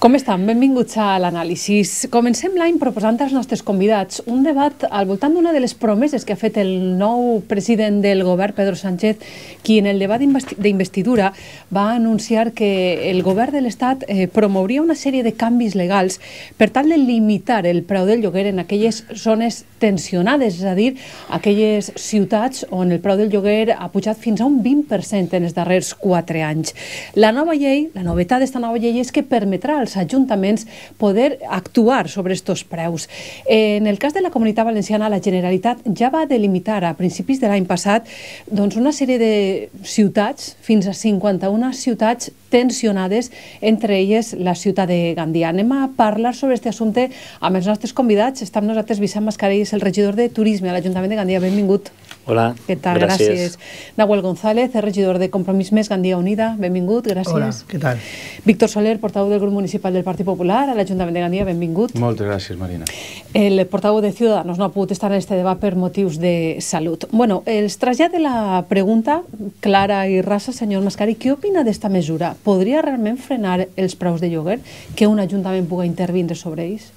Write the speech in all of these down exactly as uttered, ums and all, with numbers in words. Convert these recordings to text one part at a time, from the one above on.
Com estan? Benvinguts a l'anàlisi. Comencem l'any proposant als nostres convidats un debat al voltant d'una de les promeses que ha fet el nou president del govern, Pedro Sánchez, qui en el debat d'investidura va anunciar que el govern de l'Estat eh, promouria una sèrie de canvis legals per tal de limitar el preu del lloguer en aquelles zones tensionades, és a dir, aquelles ciutats on el preu del lloguer ha pujat fins a un vint per cent en els darrers quatre anys. La nova llei, la novetat d'esta nova llei és que permetrà als ajuntaments poder actuar sobre estos preus. En el cas de la Comunitat Valenciana, la Generalitat ja va delimitar a principis de l'any passat doncs, una sèrie de ciutats, fins a cinquanta-una ciutats tensionades, entre elles la ciutat de Gandia. Anem a parlar sobre aquest assumpte amb els nostres convidats. Està amb nosaltres Vicent Mascarell, el regidor de Turisme a l'Ajuntament de Gandia. Benvingut. Hola, què tal? gràcies. Gràcies. Nahuel González, el regidor de Compromís Més Gandia Unida. Benvingut, gràcies. Hola, què tal? Víctor Soler, portaveu del grup municipal del Partit Popular a l'Ajuntament de Gandia. Benvingut. Moltes gràcies, Marina. El portaveu de Ciudadanos no ha pogut estar en este debat per motius de salut. Bueno, els trasllade la pregunta clara i rasa, senyor Mascarell. Què opina d'esta mesura? Podria realment frenar els preus de lloguer que un ajuntament pugui intervindre sobre ells?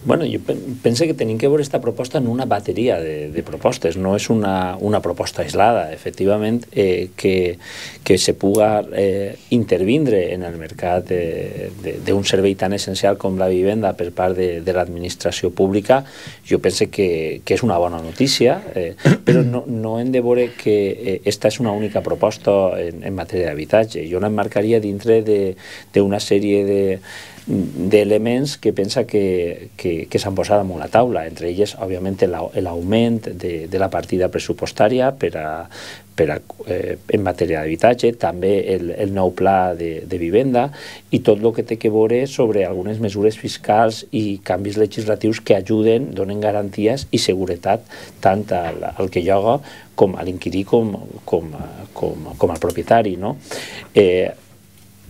Bueno, jo penso que tenim que veure aquesta proposta en una bateria de, de propostes, no és una, una proposta aislada. Efectivament, eh, que, que se puga eh, intervindre en el mercat d'un servei tan essencial com la vivenda per part de, de l'administració pública, jo penso que, que és una bona notícia, eh, però no, no hem de veure que aquesta eh, és una única proposta en, en matèria d'habitatge. Jo l'emmarcaria dintre d'una sèrie de d'elements que pensa que, que, que s'han posat damunt la taula, entre elles, òbviament, l'augment de, de la partida pressupostària per a, per a, eh, en matèria d'habitatge, també el, el nou pla de, de vivenda i tot el que té que veure sobre algunes mesures fiscals i canvis legislatius que ajuden, donen garanties i seguretat tant al, al que lloga com a l'inquirí com, com, com, com al propietari, no? Eh,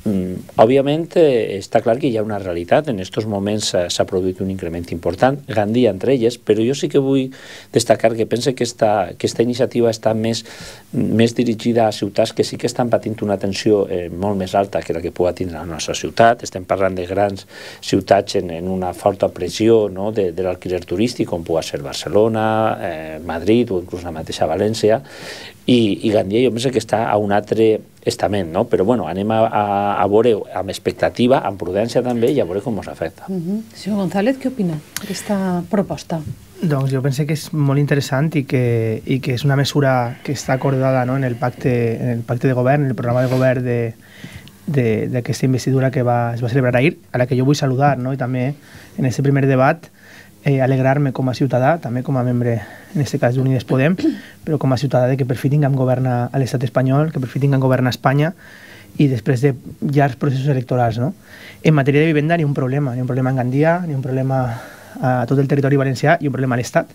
Mm, òbviament eh, està clar que hi ha una realitat, en aquests moments s'ha produït un increment important, Gandia entre elles, però jo sí que vull destacar que penso que esta, que esta iniciativa està més, més dirigida a ciutats que sí que estan patint una tensió eh, molt més alta que la que pugui tindre la nostra ciutat. Estem parlant de grans ciutats en, en una forta pressió, no, de, de l'alquiler turístic, com pugui ser Barcelona, eh, Madrid o inclús la mateixa València, i, i Gandia jo penso que està a un altre estament, no? Però bueno, anem a, a, a veure amb expectativa, amb prudència també, i a veure com ens afecta. Uh-huh. Senyor González, què opina d'aquesta proposta? Doncs jo penso que és molt interessant i que, i que és una mesura que està acordada, no, en, el pacte, en el pacte de govern, en el programa de govern d'aquesta investidura que va, es va celebrar ahir, a la que jo vull saludar, no? I també en aquest primer debat eh, alegrar-me com a ciutadà, també com a membre, en aquest cas d'Unides Podem, però com a ciutadà de que per fi tinguem govern a l'estat espanyol, que per fi tinguem govern a Espanya i després de llargs processos electorals, no? En matèria de vivenda ni un problema, ni un problema en Gandia, ni un problema a tot el territori valencià i un problema a l'Estat.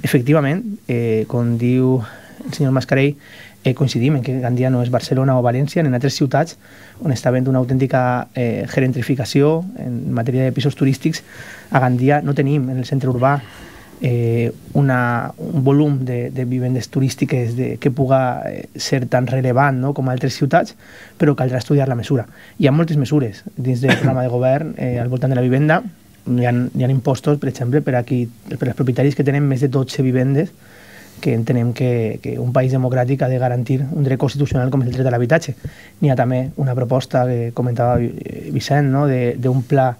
Efectivament, eh, com diu el senyor Mascarell, eh, coincidim en que Gandia no és Barcelona o València, en altres ciutats on està havent una autèntica eh, gentrificació en matèria de pisos turístics. A Gandia no tenim en el centre urbà eh, una, un volum de, de vivendes turístiques de, que puga eh, ser tan rellevant, no, com a altres ciutats, però caldrà estudiar la mesura. Hi ha moltes mesures dins del programa de govern eh, al voltant de la vivenda. Hi ha, hi ha impostos, per exemple, per, aquí, per als propietaris que tenen més de dotze vivendes, que entenem que, que un país democràtic ha de garantir un dret constitucional com és el dret a l'habitatge. N'hi ha també una proposta que comentava Vicent, no, d'un pla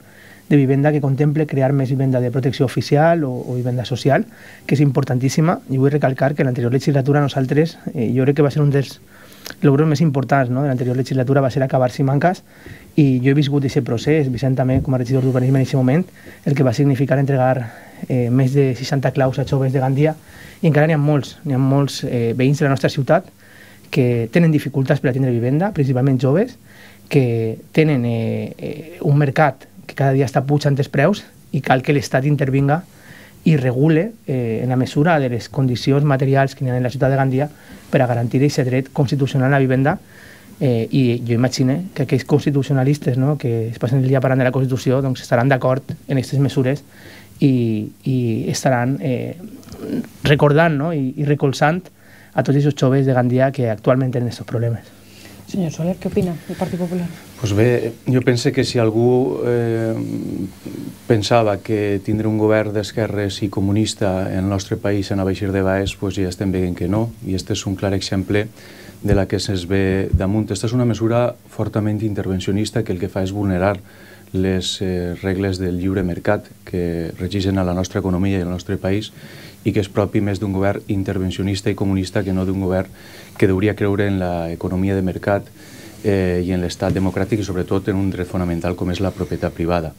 de vivenda que contemple crear més vivenda de protecció oficial o, o vivenda social, que és importantíssima. I vull recalcar que en l'anterior legislatura nosaltres, eh, jo crec que va ser un dels logros més importants, no, de l'anterior legislatura va ser acabar Simancas, i jo he viscut aquest procés, Vicent també com a regidor d'urbanisme en aquest moment, el que va significar entregar eh, més de seixanta claus a joves de Gandia, i encara n'hi ha molts, n'hi ha molts eh, veïns de la nostra ciutat que tenen dificultats per a tindre vivenda, principalment joves, que tenen eh, eh, un mercat que cada dia està pujant els preus i cal que l'Estat intervinga i regule eh, en la mesura de les condicions materials que hi ha en la ciutat de Gandia per a garantir aquest dret constitucional a la vivenda. Eh, I jo imagino que aquells constitucionalistes, no, que es passen el dia parlant de la Constitució, doncs estaran d'acord en aquestes mesures i, i estaran eh, recordant, no, i, i recolzant a tots aquests joves de Gandia que actualment tenen aquests problemes. Senyor Soler, què opina del Partit Popular? Pues bé, jo pense que si algú eh, pensava que tindre un govern d'esquerres i comunista en el nostre país anava a eixir de baix, pues ja estem veient que no, i este és un clar exemple de la que se'ns ve damunt. Esta és una mesura fortament intervencionista que el que fa és vulnerar les eh, regles del lliure mercat que regeixen a la nostra economia i al nostre país i que és propi més d'un govern intervencionista i comunista que no d'un govern que hauria creure en l'economia de mercat eh, i en l'estat democràtic i sobretot en un dret fonamental com és la propietat privada.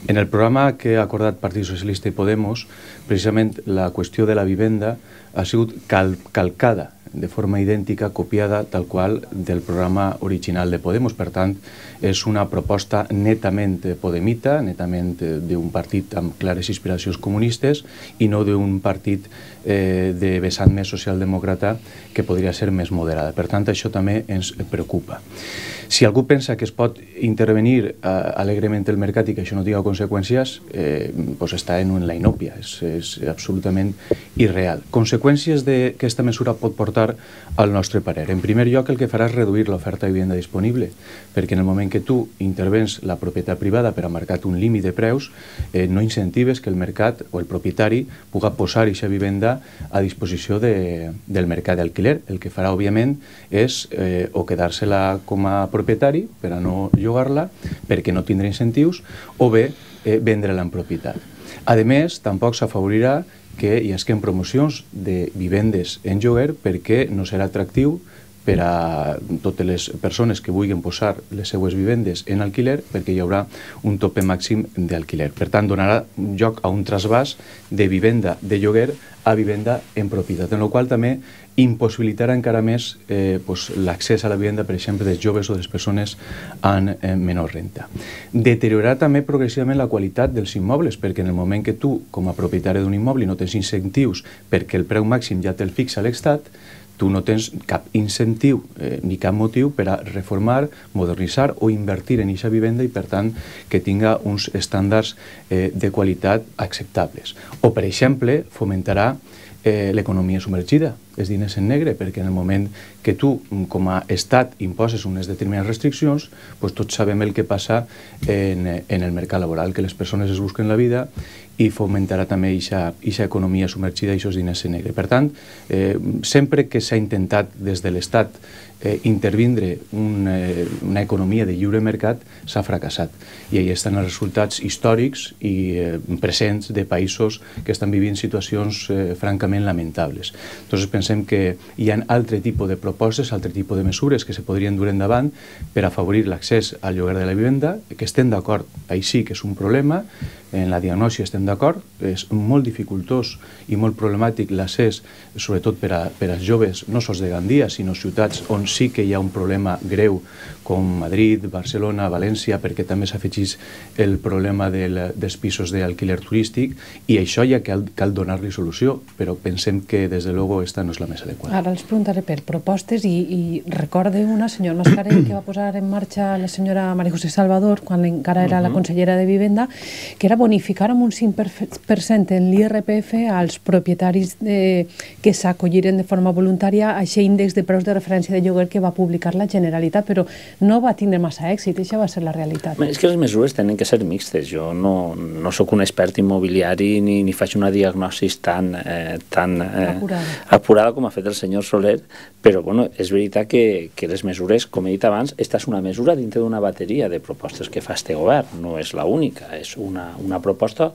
En el programa que ha acordat Partit Socialista i Podemos, precisament la qüestió de la vivenda ha sigut cal calcada de forma idèntica, copiada tal qual del programa original de Podemos. Per tant, és una proposta netament podemita, netament d'un partit amb clares inspiracions comunistes i no d'un partit eh, de vessant més socialdemòcrata que podria ser més moderada. Per tant, això també ens preocupa. Si algú pensa que es pot intervenir eh, alegrement el mercat i que això no tingui conseqüències, eh, pues està en la inòpia, és, és absolutament irreal. Conseqüències de, que aquesta mesura pot portar al nostre parer. En primer lloc, el que farà és reduir l'oferta de vivenda disponible, perquè en el moment que tu intervens la propietat privada per a marcar un límit de preus, eh, no incentives que el mercat o el propietari puga posar aquesta vivenda a disposició de, del mercat d'alquiler. El que farà, òbviament, és eh, o quedar-se-la com a propietari per a no llogar-la, perquè no tindrà incentius, o bé eh, vendre-la en propietat. A més, tampoc s'afavorirà que hi hagin promocions de vivendes en lloguer perquè no serà atractiu per a totes les persones que vulguin posar les seues vivendes en alquiler perquè hi haurà un tope màxim d'alquiler. Per tant, donarà lloc a un trasbàs de vivenda de lloguer a vivenda en propietat, en la qual també impossibilitarà encara més eh, pues, l'accés a la vivenda, per exemple, dels joves o de les persones amb eh, menor renta. Deteriorarà també progressivament la qualitat dels immobles, perquè en el moment que tu, com a propietari d'un immoble, no tens incentius perquè el preu màxim ja te'l fixa l'Estat, tu no tens cap incentiu eh, ni cap motiu per a reformar, modernitzar o invertir en aquesta vivenda i, per tant, que tinga uns estàndards eh, de qualitat acceptables. O, per exemple, fomentarà eh, l'economia submergida, els diners en negre, perquè en el moment que tu, com a estat, imposes unes determinades restriccions, doncs tots sabem el que passa en, en el mercat laboral, que les persones es busquen la vida i fomentarà també aquesta economia submergida i aquests diners en negre. Per tant, eh, sempre que s'ha intentat des de l'Estat eh, intervindre un, eh, una economia de lliure mercat, s'ha fracassat. I ahí estan els resultats històrics i eh, presents de països que estan vivint situacions eh, francament lamentables. Entonces pensem que hi ha altre tipus de propostes, altre tipus de mesures que se podrien dur endavant per afavorir l'accés al lloguer de la vivenda, que estem d'acord, ahí sí que és un problema, en la diagnosi estem d'acord, és molt dificultós i molt problemàtic l'accés, sobretot per, a, per als joves, no sols de Gandia, sinó ciutats on sí que hi ha un problema greu, com Madrid, Barcelona, València, perquè també s'afegeix el problema del, dels pisos d'alquiler turístic, i això ja cal, cal donar-li solució, però pensem que, des de luego, esta no és la més adequada. Ara els preguntaré per propostes i, i recorde una, senyor Mascarell, que va posar en marxa la senyora María José Salvador, quan encara era uh -huh. la consellera de Vivenda, que era bonificar amb un cinc per cent en l'I R P F als propietaris de, que s'acolliren de forma voluntària a aquest índex de preus de referència de lloguer que va publicar la Generalitat, però no va tindre massa èxit, això va ser la realitat. És que les mesures tenen que ser mixtes. Jo no, no sóc un expert immobiliari ni, ni faig una diagnosi tan, eh, tan eh, apurada. apurada com ha fet el senyor Soler, però bueno, és veritat que, que les mesures, com he dit abans, esta és una mesura dintre d'una bateria de propostes que fa este govern, no és l'única, és una, una proposta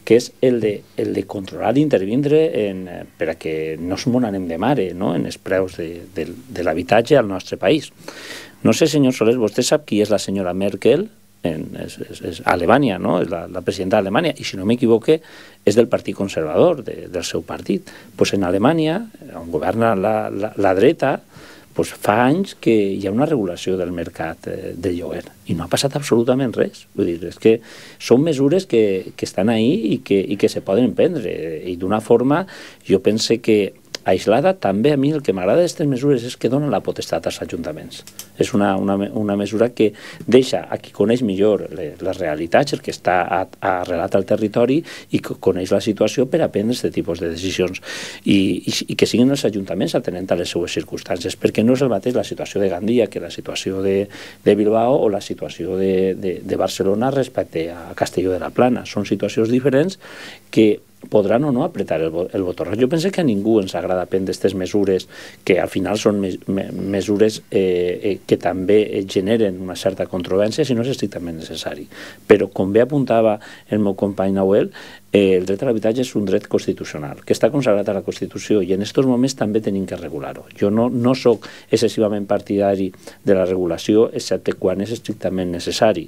que és el de, el de controlar i intervindre en, per a que no es mos anem de mare, no?, en els preus de, de, de l'habitatge al nostre país. No sé, senyor Soler, vostè sap qui és la senyora Merkel? En, és, és, és Alemanya, no? És la, la presidenta d'Alemanya, i si no m'equivoque és del Partit Conservador, de, del seu partit. Pues en Alemanya, on governa la, la, la dreta, pues fa anys que hi ha una regulació del mercat eh, de lloguer i no ha passat absolutament res. Vull dir, és que són mesures que, que estan ahí i que, i que se poden prendre, i d'una forma jo pense que aislada. També a mi el que m'agrada d'aquestes mesures és que donen la potestat als ajuntaments. És una, una, una mesura que deixa a qui coneix millor les, les realitats, el que està arrelat al territori i que coneix la situació per a prendre aquest tipus de decisions. I, i, i que siguin els ajuntaments atenent a les seues circumstàncies, perquè no és el mateix la situació de Gandia que la situació de, de Bilbao o la situació de, de, de Barcelona respecte a Castelló de la Plana. Són situacions diferents que podran o no apretar el, el botó roig. Jo penso que a ningú ens agrada prendre aquestes mesures que al final són me, me, mesures eh, eh, que també generen una certa controvèrsia si no és estrictament necessari. Però, com bé apuntava el meu company Nahuel, eh, el dret a l'habitatge és un dret constitucional, que està consagrat a la Constitució i en aquests moments també tenim que regular-ho. Jo no, no soc excessivament partidari de la regulació, excepte quan és estrictament necessari.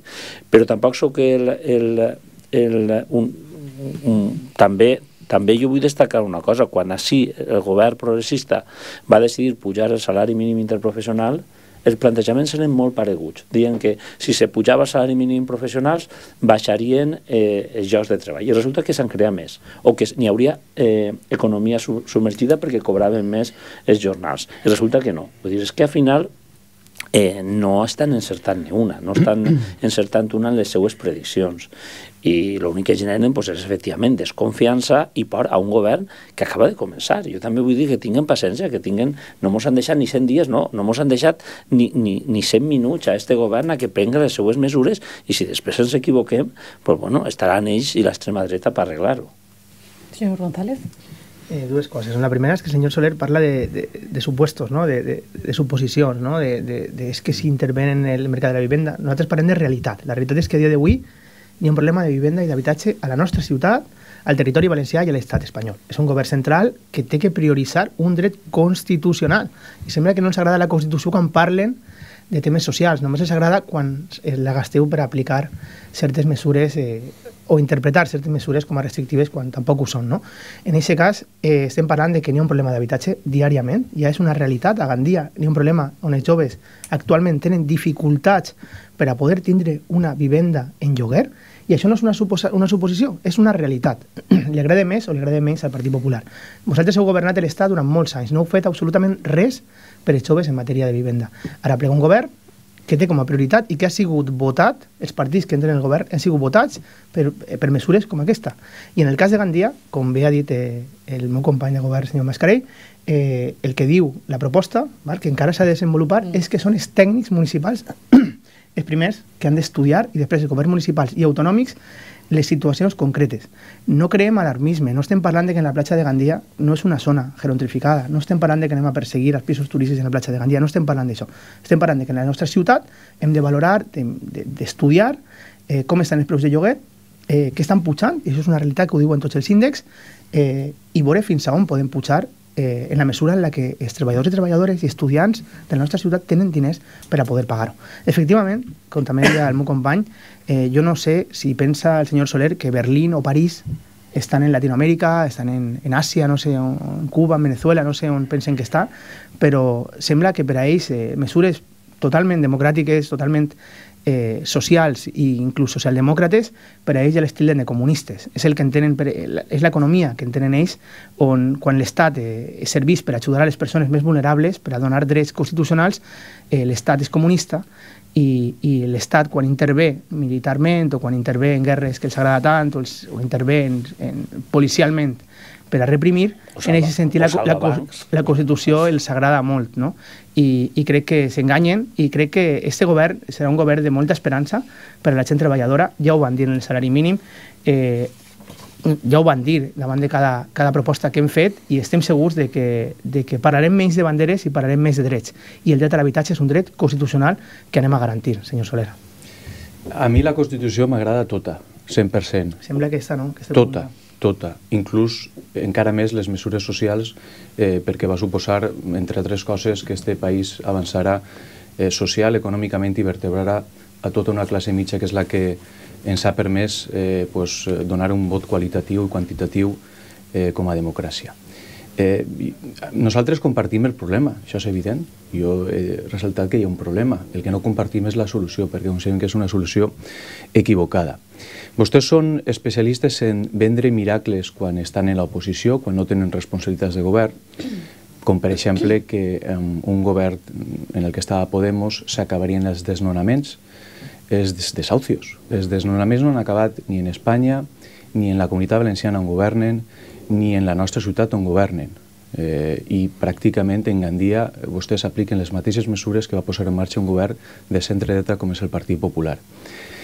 Però tampoc soc el... el, el un, Mm, també, també jo vull destacar una cosa. Quan així el govern progressista va decidir pujar el salari mínim interprofessional, els plantejaments eren molt pareguts. Deien que si se pujava el salari mínim professionals baixarien eh, els llocs de treball. I resulta que s'han creat més, o que n'hi hauria eh, economia submergida perquè cobraven més els jornals. I resulta que no. Vull dir, és que al final eh, no estan encertant ni una, no estan encertant una en les seues prediccions. I l'únic que generen doncs, és efectivament desconfiança i por a un govern que acaba de començar. Jo també vull dir que tinguin paciència, que tinguin, no mos han deixat ni cent dies, no, no mos han deixat ni, ni, ni cent minuts a este govern a que prengui les seues mesures i si després ens equivoquem, doncs, bueno, estaran ells i l'extrema dreta per arreglar-ho. Senyor González. Eh, dues coses. La primera és que el senyor Soler parla de, de, de supuestos, ¿no? de, de, de suposicions, ¿no? de, de, de es que si interven en el mercat de la vivenda. Nosaltres parlem de realitat. La realitat és que a dia d'avui hi ha un problema de vivenda i d'habitatge a la nostra ciutat, al territori valencià i a l'estat espanyol. És un govern central que té que prioritzar un dret constitucional. I sembla que no ens agrada la Constitució quan parlen de temes socials, només els agrada quan la gasteu per aplicar certes mesures eh, o interpretar certes mesures com a restrictives quan tampoc ho són. No? En aquest cas, eh, estem parlant de que n'hi ha un problema d'habitatge diàriament, ja és una realitat a Gandia, n'hi ha un problema on els joves actualment tenen dificultats per a poder tindre una vivenda en lloguer, i això no és una, suposa, una suposició, és una realitat. Li agrada més o li agrada menys al Partit Popular. Vosaltres heu governat l'Estat durant molts anys, no heu fet absolutament res per als joves en matèria de vivenda. Ara plega un govern que té com a prioritat i que ha sigut votat, els partits que entren en el govern han sigut votats per, per mesures com aquesta. I en el cas de Gandia, com bé ha dit eh, el meu company de govern, senyor Mascarell, eh, el que diu la proposta, val, que encara s'ha de desenvolupar, mm. és que són els tècnics municipals els primers que han d'estudiar i després els governs municipals i autonòmics les situacions concretes. No creem alarmisme, no estem parlant de que en la platja de Gandia no és una zona gerontrificada, no estem parlant de que anem a perseguir els pisos turístics en la platja de Gandia, no estem parlant d'això. Estem parlant de que en la nostra ciutat hem de valorar, d'estudiar eh, com estan els preus de lloguer, eh, que estan pujant, i això és una realitat que ho diuen tots els índexs, eh, i veure fins a on podem pujar Eh, en la mesura en la que els treballadors i treballadores i estudiants de la nostra ciutat tenen diners per a poder pagar-ho. Efectivament, com també deia el meu company, eh, jo no sé si pensa el senyor Soler que Berlín o París estan en Latinoamèrica, estan en, en Àsia, no sé, en Cuba, en Venezuela, no sé on pensen que està, però sembla que per a ells eh, mesures totalment democràtiques, totalment eh, socials i inclús socialdemòcrates, per a ells ja l'estil de comunistes. És el que entenen, per, és l'economia que entenen ells, on quan l'Estat eh, serveix per ajudar a les persones més vulnerables, per a donar drets constitucionals, eh, l'Estat és comunista i, i l'Estat quan intervé militarment o quan intervé en guerres que els agrada tant o, els, o intervé en, en, policialment per a reprimir, salva, en aquest sentit la, la, la Constitució els agrada molt, no? I, i crec que s'enganyen i crec que este govern serà un govern de molta esperança per a la gent treballadora. Ja ho van dir en el salari mínim, eh, ja ho van dir davant de cada, cada proposta que hem fet i estem segurs de que, de que parlarem menys de banderes i parlarem més de drets. I el dret a l'habitatge és un dret constitucional que anem a garantir, senyor Soler. A mi la Constitució m'agrada tota, cent per cent. Sembla que aquesta no. Que tota. Tota, inclús encara més les mesures socials eh, perquè va suposar, entre altres coses, que este país avançarà eh, social, econòmicament i vertebrarà a tota una classe mitja que és la que ens ha permès eh, pues, donar un vot qualitatiu i quantitatiu eh, com a democràcia. Eh, nosaltres compartim el problema, això és evident. Jo he ressaltat que hi ha un problema. El que no compartim és la solució, perquè considerem que és una solució equivocada. Vostès són especialistes en vendre miracles quan estan en l'oposició, quan no tenen responsabilitats de govern, com per exemple que en un govern en el que estava Podemos s'acabarien els desnonaments, els desahucios. Els desnonaments no han acabat ni en Espanya, ni en la Comunitat Valenciana on governen, ni en la nostra ciutat on governen. Eh, I pràcticament en Gandia vostès apliquen les mateixes mesures que va posar en marxa un govern de centre-dreta com és el Partit Popular.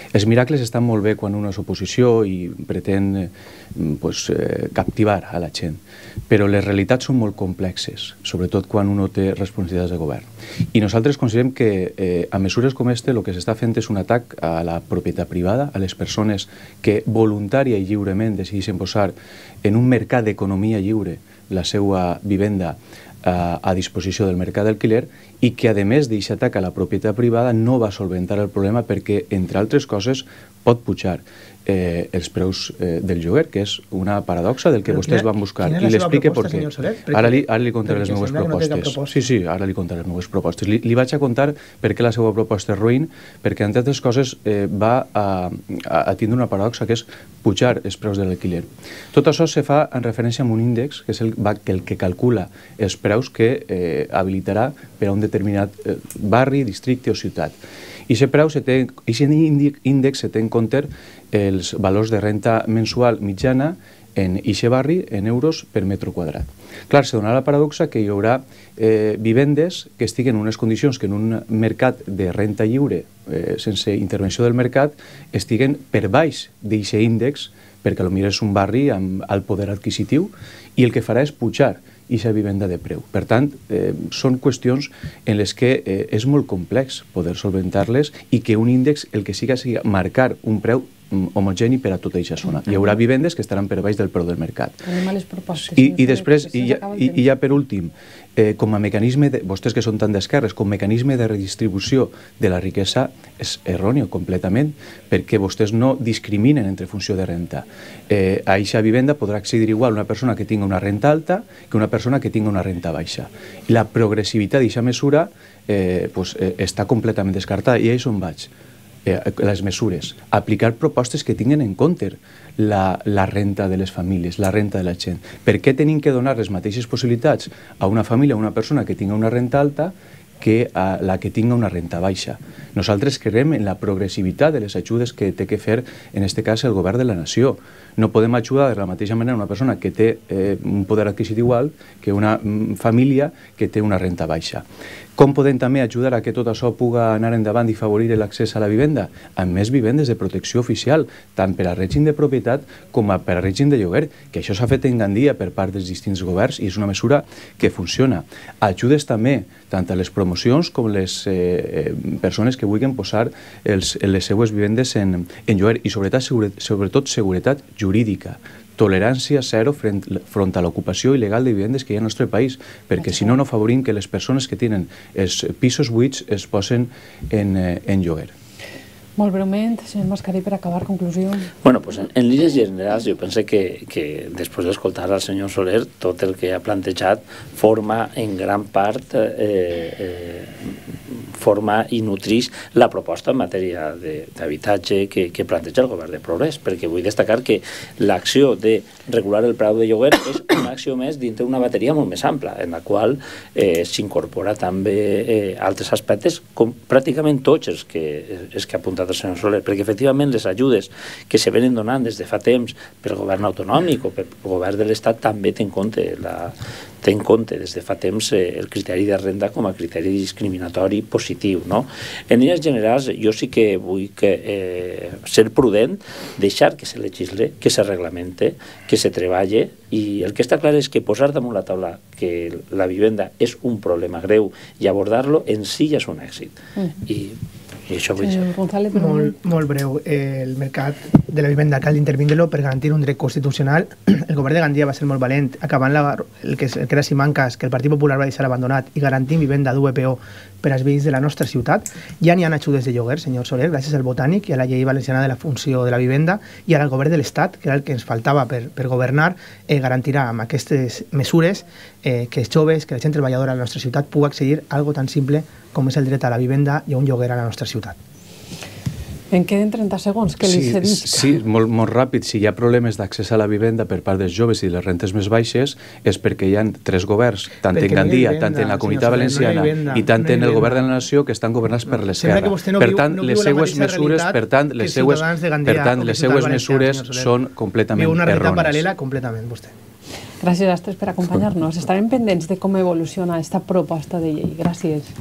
Els miracles estan molt bé quan una és oposició i pretén eh, pues, eh, captivar a la gent, però les realitats són molt complexes, sobretot quan un té responsabilitats de govern. I nosaltres considerem que eh, a mesures com este el que s'està fent és un atac a la propietat privada, a les persones que voluntària i lliurement decideixen posar en un mercat d'economia lliure la seva vivenda a, a disposició del mercat d'alquiler i que, a més d'aquest atac a la propietat privada, no va solventar el problema perquè, entre altres coses, pot pujar eh, els preus eh, del lloguer, que és una paradoxa del que Però vostès quina, van buscar. Quina I l'explique per què. Ara li, ara li contaré les meves propostes. No sí, sí, ara li contaré les meves propostes. Li, li vaig a contar per què la seva proposta és ruïn, perquè, entre altres coses, eh, va a, a, a tindre una paradoxa, que és pujar els preus de l'alquiler. Tot això se fa en referència a un índex, que és el, el que calcula els preus que eh, habilitarà per a un determinat eh, barri, districte o ciutat. I aquest preu, aquest índex se té en compte els valors de renta mensual mitjana en aquest barri en euros per metre quadrat. Clar, se donarà la paradoxa que hi haurà eh, vivendes que estiguen en unes condicions que en un mercat de renta lliure, eh, sense intervenció del mercat, estiguen per baix d'aquest índex, perquè potser és un barri amb alt poder adquisitiu, i el que farà és pujar aquesta vivenda de preu. Per tant, eh, són qüestions en les que eh, és molt complex poder solventar-les i que un índex el que siga sigui marcar un preu homogeni per a tota aquesta zona. Hi haurà vivendes que estaran per baix del preu del mercat. I, i després, i ja, i, i ja per últim, eh, com a mecanisme, de, vostès que són tan d'esquerres, com a mecanisme de redistribució de la riquesa és erròneo completament, perquè vostès no discriminen entre funció de renta. Eh, a aquesta vivenda podrà accedir igual una persona que tingui una renta alta que una persona que tingui una renta baixa. I la progressivitat d'aquesta mesura eh, pues, eh, està completament descartada, i a això on vaig. Eh, les mesures, aplicar propostes que tinguin en compte la, la renta de les famílies, la renta de la gent. Per què tenim que donar les mateixes possibilitats a una família, a una persona que tingui una renta alta que a la que tingui una renta baixa? Nosaltres creiem en la progressivitat de les ajudes que té que fer, en aquest cas, el govern de la nació. No podem ajudar de la mateixa manera una persona que té eh, un poder adquisit igual que una mm, família que té una renta baixa. Com podem també ajudar a que tot això puga anar endavant i favorir l'accés a la vivenda? Amb més vivendes de protecció oficial, tant per a règim de propietat com per a règim de lloguer, que això s'ha fet en Gandia per part dels distints governs i és una mesura que funciona. Ajudes també tant a les promocions com les eh, persones que vulguin posar els, les seues vivendes en, en lloguer i sobretot, segure, sobretot seguretat jurídica. Tolerància zero front, front a l'ocupació il·legal de vivendes que hi ha al nostre país, perquè si no, no favorim que les persones que tenen els pisos buits es posen en, en lloguer. Molt breument, senyor Mascarell, per acabar, conclusió. Bueno, pues en, en línies generals jo penso que, que després d'escoltar al senyor Soler, tot el que ha plantejat forma en gran part eh, eh, forma i nutrix la proposta en matèria d'habitatge que, que planteja el govern de Progrés, perquè vull destacar que l'acció de regular el preu de lloguer és una acció més dintre una bateria molt més ampla, en la qual eh, s'incorpora també eh, altres aspectes, com pràcticament tots els que, els que ha apuntat el senyor Soler, perquè efectivament les ajudes que se venen donant des de fa temps pel govern autonòmic o pel govern de l'Estat també té en compte la té en compte des de fa temps eh, el criteri de renda com a criteri discriminatori positiu, no? En línies generals, jo sí que vull que, eh, ser prudent, deixar que se legisle, que se reglamente, que se treballe, i el que està clar és que posar damunt la taula que la vivenda és un problema greu i abordar-lo en si ja és un èxit. Mm. I, i això vull dir. Molt, molt breu. El mercat de la vivenda cal intervindre-lo per garantir un dret constitucional. El govern de Gandia va ser molt valent, acabant la, el, que, el que era Simancas, que el Partit Popular va deixar abandonat, i garantint vivenda d'U P O per als veïns de la nostra ciutat. Ja n'hi ha ajudes de lloguer, senyor Soler, gràcies al Botànic i a la llei valenciana de la funció de la vivenda, i ara el govern de l'Estat, que era el que ens faltava per, per governar, eh, garantirà amb aquestes mesures eh, que els joves, que la gent treballadora de la nostra ciutat pugui accedir a algo tan simple com és el dret a la vivenda i a un lloguer a la nostra ciutat. En queden trenta segons, que li sí, cedisc. Sí, molt, molt ràpid. Si hi ha problemes d'accés a la vivenda per part dels joves i les rentes més baixes és perquè hi ha tres governs, tant perquè en Gandia, no vivenda, tant en la Comunitat Soler, Valenciana no vivenda, i tant no en el vivenda. govern de la nació, que estan governats per l'esquerra. No per viu, tant, no les seues mesures, per tant, les seues, per tant, les seues mesures són completament errònies. Viu una realitat errònies. paral·lela completament, vostè. Gràcies a tots per acompanyar-nos. Estarem pendents de com evoluciona aquesta proposta de llei. Gràcies.